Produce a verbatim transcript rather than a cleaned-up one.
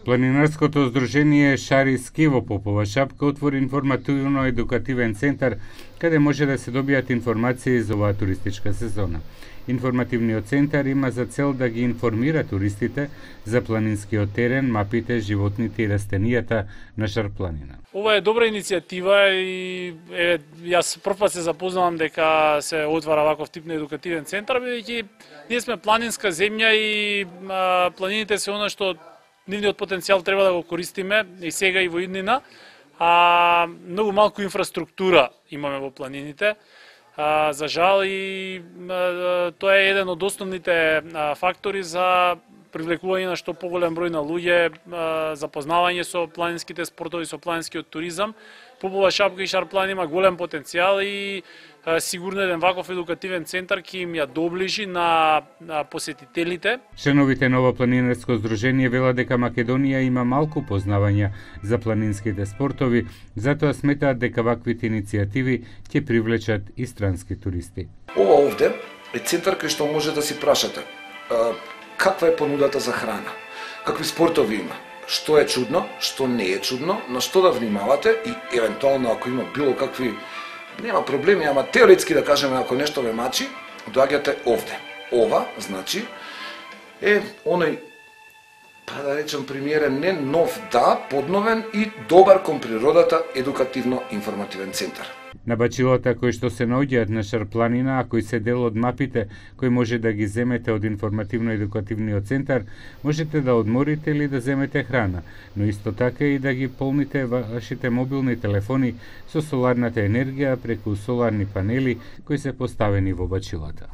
Планинарското здружение Шари ски во Попова шапка отвори информативно-едукативен центар каде може да се добијат информации за оваа туристичка сезона. Информативниот центар има за цел да ги информира туристите за планинскиот терен, мапите, животните и растенијата на Шарпланина. Ова е добра иницијатива и е, јас прв пат се запознавам дека се отвара ваков тип на едукативен центар, бидејќи ние сме планинска земја и а, планините се она што нивниот потенцијал треба да го користиме и сега и во иднина, а многу малку инфраструктура имаме во планините. А, за жал и а, тоа е еден од основните а, фактори за привлекување на што поголем број на луѓе, а, запознавање со планинските спортови, со планинскиот туризам. Попова шапка и Шарпланина има голем потенцијал и а, сигурно еден ваков едукативен центар ќе им ја доближи на, на посетителите. Членовите на ова планинарско здружение велат дека Македонија има малку познавања за планинските спортови, затоа сметаат дека ваквите иницијативи ќе привлечат и странски туристи. Ова овде е центар кај што може да си прашате а, каква е понудата за храна, какви спортови има, што е чудно, што не е чудно, на што да внимавате и евентуално ако има било какви, нема проблеми, ама теоретски да кажеме ако нешто ве мачи, доаѓате овде. Ова, значи, е оној, па да речем примерен, не нов, да, подновен и добар кон природата едукативно-информативен центар. На бачилата кои што се наоѓаат на Шарпланина, а кои се дел од мапите кои може да ги земете од информативно-едукативниот центар, можете да одморите или да земете храна, но исто така и да ги полните вашите мобилни телефони со соларната енергија преку соларни панели кои се поставени во бачилата.